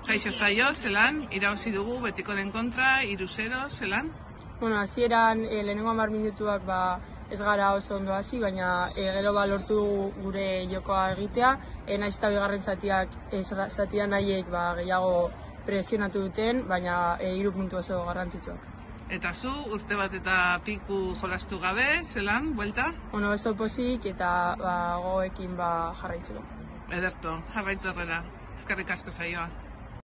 Kaixo Zaio, zelan, irabazi dugu Betikoren kontra, 3-0, zelan? Bueno, hasieran lehenengo 10 minutuak ez gara oso ondo hasi, baina gero lortu dugu gure jokoa egitea. Nahiz eta bigarren zatian nahiek gehiago presionatu duten, baina 3 puntu oso garrantzitsuak. Eta zu, urte bat eta piku jolastu gabe, zelan, buelta? Bueno, oso pozik eta gogoekin jarraitzeko. Ederto, jarraitu horrela. Eskerrik asko Zaioa.